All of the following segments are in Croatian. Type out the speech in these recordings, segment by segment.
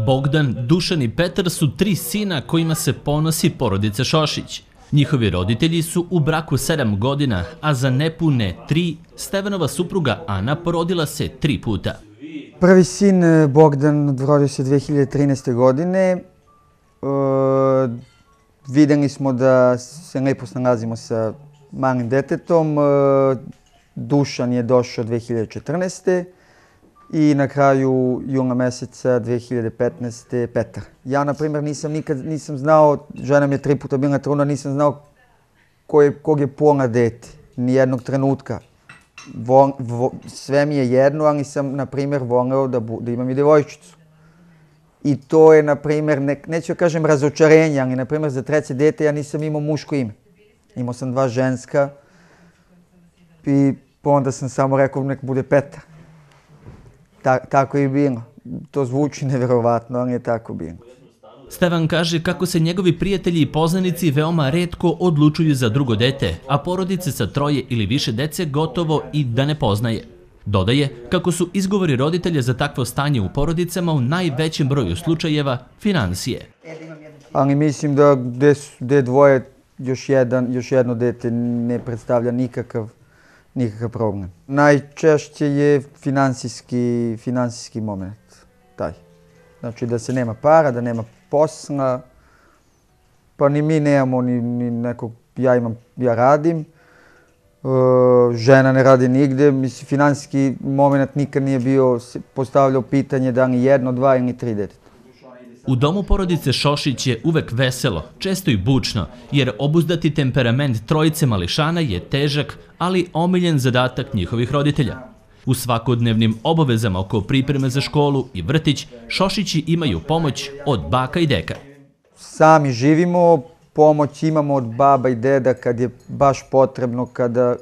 Bogdan, Dušan i Petar su tri sina kojima se ponosi porodica Šošić. Njihovi roditelji su u braku 7 godina, a za nepune 3 Stevanova supruga Ana porodila se 3 puta. Prvi sin Bogdan rodio se 2013. godine. Vidjeli smo da se lepo snalazimo sa malim detetom. Dušan je došao 2014. I na kraju jula meseca 2015. Petar. Ja, na primjer, nisam znao, žena mi je 3 puta bila trudna, nisam znao kog je pola dete, nijednog trenutka. Sve mi je jedno, ali sam, na primjer, voleo da imam i djevojčicu. I to je, na primjer, neću da kažem razočarenje, ali, na primjer, za treće dete ja nisam imao muško ime. Imao sam 2 ženska i onda sam samo rekao nek bude Petar. Tako je bilo. To zvuči nevjerovatno, ali je tako bilo. Stevan kaže kako se njegovi prijatelji i poznanici veoma retko odlučuju za drugo dete, a porodice sa 3 ili više dece gotovo i da ne poznaje. Dodaje kako su izgovori roditelja za takvo stanje u porodicama u najvećem broju slučajeva finansije. Ali mislim da gde dvoje još jedno dete ne predstavlja nikakav problem. Najčešće je finansijski moment, taj. Znači da se nema para, da nema posla, pa ni mi nemamo ni nekog, ja radim, žena ne radi nigde, mislim finansijski moment nikad nije bio postavljao pitanje da li 1, 2 ili 3 deteta. U domu porodice Šošić je uvek veselo, često i bučno, jer obuzdati temperament trojice mališana je težak, ali omiljen zadatak njihovih roditelja. U svakodnevnim obavezama oko pripreme za školu i vrtić, Šošići imaju pomoć od baka i deka. Sami živimo, pomoć imamo od baba i deda kad je baš potrebno,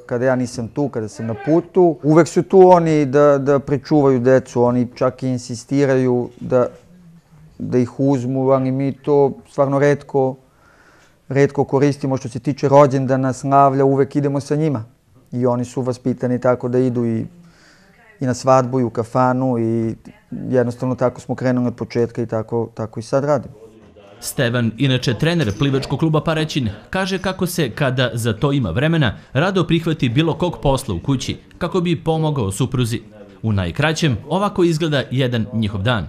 kada ja nisam tu, kada sam na putu. Uvek su tu oni da pričuvaju decu, oni čak i insistiraju da ih uzmu, ali mi to stvarno retko koristimo. Što se tiče rođendana, slavlja, uvek idemo sa njima. I oni su vaspitani tako da idu i na svadbu i u kafanu i jednostavno tako smo krenuli od početka i tako i sad radimo. Stevan, inače trener plivačkog kluba Paraćin, kaže kako se, kada za to ima vremena, rado prihvati bilo kog posla u kući kako bi pomogao supruzi. U najkraćem, ovako izgleda jedan njihov dan.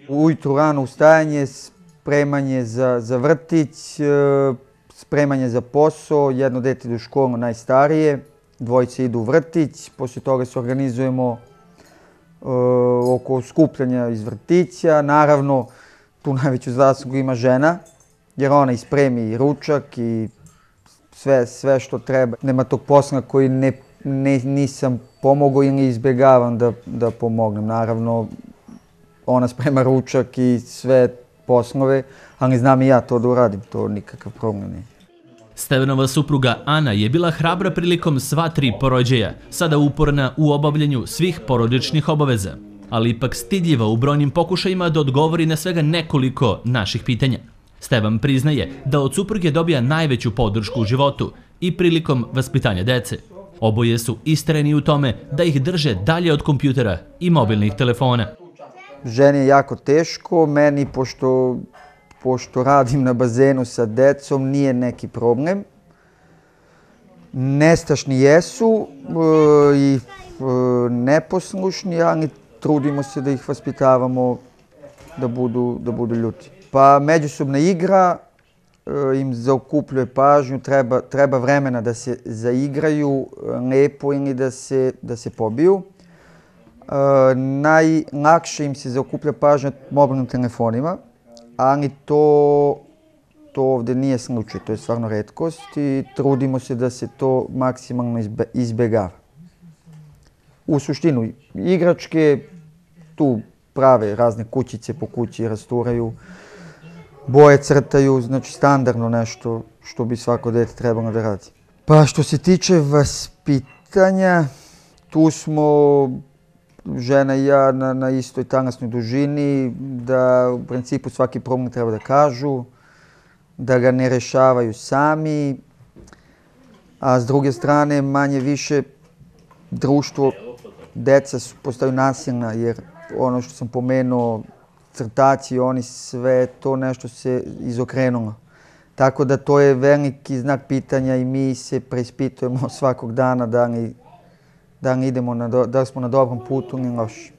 Ujutru rano ustajanje, spremanje za vrtić, spremanje za posao, jedno dete ide u školu, najstarije, dvojice idu u vrtić, poslije toga se organizujemo oko skupljanja iz vrtića. Naravno, tu najveću zaslugu ima žena, jer ona ispremi i ručak i sve što treba. Nema tog posla koji nisam pomogao ili izbjegavam da pomognem. Naravno, ona sprema ručak i sve poslove, ali znam i ja to da uradim, to nikakav problem nije. Stevanova supruga Ana je bila hrabra prilikom sva 3 porođaja, sada uporna u obavljanju svih porodičnih obaveza, ali ipak stidljiva u brojnim pokušajima da odgovori na svega nekoliko naših pitanja. Stevan priznaje da od supruge dobija najveću podršku u životu i prilikom vaspitanja dece. Oboje su istrajni u tome da ih drže dalje od kompjutera i mobilnih telefona. Ženi je jako teško, meni pošto radim na bazenu sa decom nije neki problem. Nestašni jesu i neposlušni, ali trudimo se da ih vaspitavamo da budu ljuti. Pa međusobna igra im zaokupljuje pažnju, treba vremena da se zaigraju lepo ili da se pobiju. Najlakše im se zaokuplja pažnja mobilnim telefonima, ali to ovdje nije slučaj, to je stvarno retkost i trudimo se da se to maksimalno izbjegava. U suštinu, igračke tu prave razne kućice po kući, rasturaju, boje crtaju, znači standardno nešto što bi svako dete trebalo da radi. Pa što se tiče vaspitanja, tu smo žena i ja na istoj talasnoj dužini, da u principu svaki problem treba da kažu, da ga ne rešavaju sami, a s druge strane manje više društvo, deca postaju nasilna, jer ono što sam pomenuo, crtaci, oni sve to nešto se izokrenulo. Tako da to je veliki znak pitanja i mi se preispitujemo svakog dana da li idemo, da li smo na dobrom putu ili loši.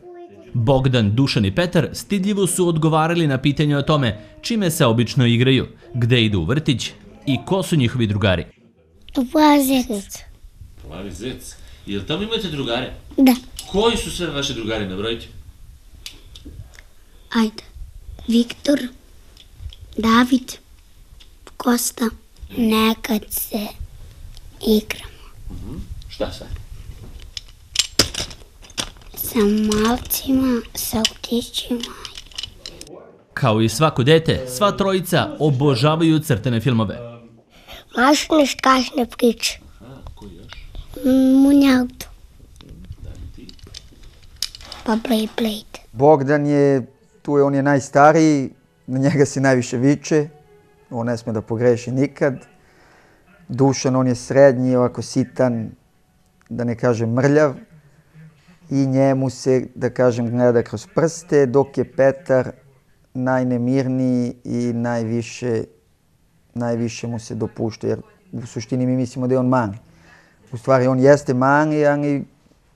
Bogdan, Dušan i Petar stidljivo su odgovarali na pitanje o tome čime se obično igraju, gde idu u vrtić i ko su njihovi drugari. U Plavi Zec. Plavi Zec? Jel tamo imate drugare? Da. Koji su sve vaši drugari, nabrojite? Ajde. Viktor, David, Kosta. Nekad se igramo. Šta sve? Sa malcima, sa autićima. Kao i svako dete, sva trojica obožavaju crtane filmove. Mašne škašne priče. Koji još? Munjaldo. Pa Blade. Bogdan je, on je najstariji, na njega se najviše viče, on ne sme da pogreši nikad. Dušan, on je srednji, ovako sitan, da ne kažem mrljav, i njemu se, da kažem, gleda kroz prste, dok je Petar najnemirniji i najviše mu se dopušta, jer u suštini mi mislimo da je on mani. U stvari, on jeste mani, ali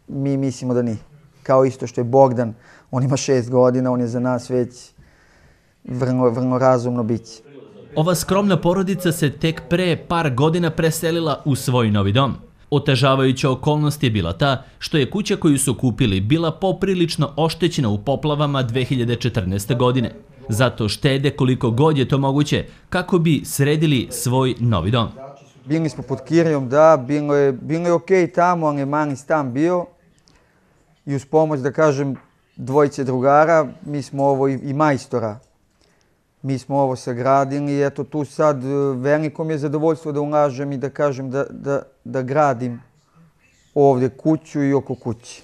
mi mislimo da nije. Kao isto što je Bogdan, on ima 6 godina, on je za nas već vrlo razumno biće. Ova skromna porodica se tek pre par godina preselila u svoj novi dom. Otežavajuća okolnost je bila ta što je kuća koju su kupili bila poprilično oštećena u poplavama 2014. godine. Zato štede koliko god je to moguće kako bi sredili svoj novi dom. Bili smo pod kirijom, da, bilo je okej tamo, ali je mali stan bio. I uz pomoć, da kažem, dvojice drugara, mi smo ovo i majstora. Mi smo ovo sagradili i eto tu sad veliko mi je zadovoljstvo da ulažem i da kažem da gradim ovdje kuću i oko kuće.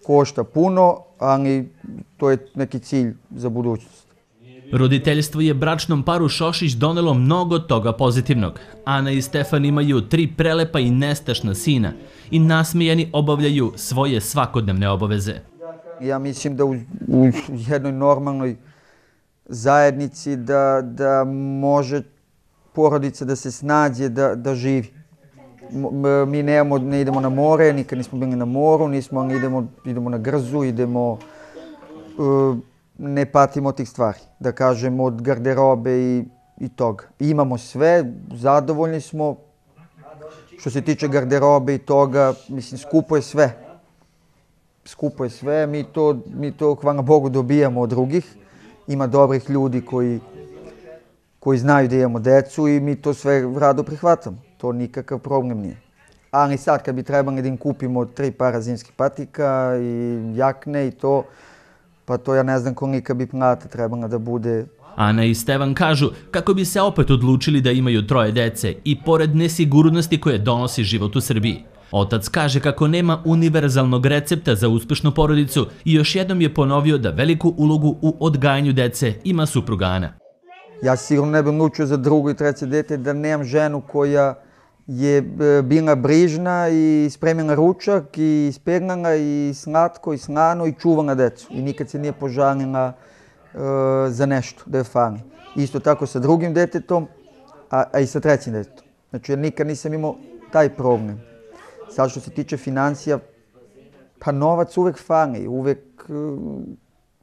Košta puno, ali to je neki cilj za budućnost. Roditeljstvo je bračnom paru Šošić donelo mnogo toga pozitivnog. Ana i Stefan imaju 3 prelepa i nestašna sina i nasmijani obavljaju svoje svakodnevne obaveze. Ja mislim da u jednoj normalnoj zajednici da može porodica da se snađe, da živi. Mi ne idemo na more, nikad nismo bili na moru, idemo na grzu, ne patimo od tih stvari, da kažem, od garderobe i toga. Imamo sve, zadovoljni smo. Što se tiče garderobe i toga, mislim, skupo je sve. Skupo je sve, mi to, hvala Bogu, dobijamo od drugih. Ima dobrih ljudi koji znaju da imamo decu i mi to sve rado prihvatamo. To nikakav problem nije. Ali sad kad bi trebali da im kupimo 3 para zimskih patika i jakne i to, pa to ja ne znam kolika bi plata trebala da bude. Ana i Stevan kažu kako bi se opet odlučili da imaju 3 dece i pored nesigurnosti koje donosi život u Srbiji. Otac kaže kako nema univerzalnog recepta za uspešnu porodicu i još jednom je ponovio da veliku ulogu u odgajanju dece ima supruga Ana. Ja sigurno ne bih odlučio za 2. i 3. dete da nemam ženu koja je bila brižna i spremila ručak i ispeglala i slatko i slano i čuvala decu. I nikad se nije požalila za nešto da je fali. Isto tako sa 2. detetom, a i sa 3. detetom. Znači, ja nikad nisam imao taj problem. Sad što se tiče financija, pa novac uvek fali,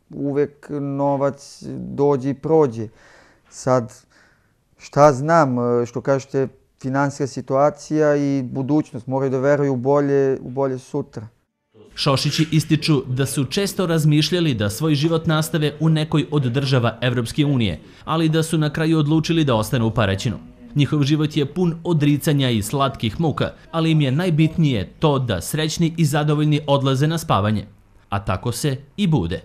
uvek novac dođe i prođe. Sad, šta znam, što kažete, finansijska situacija i budućnost moraju da veruju u bolje sutra. Šošići ističu da su često razmišljali da svoj život nastave u nekoj od država Evropske unije, ali da su na kraju odlučili da ostanu u Paraćinu. Njihov život je pun odricanja i slatkih muka, ali im je najbitnije to da srećni i zadovoljni odlaze na spavanje. A tako se i bude.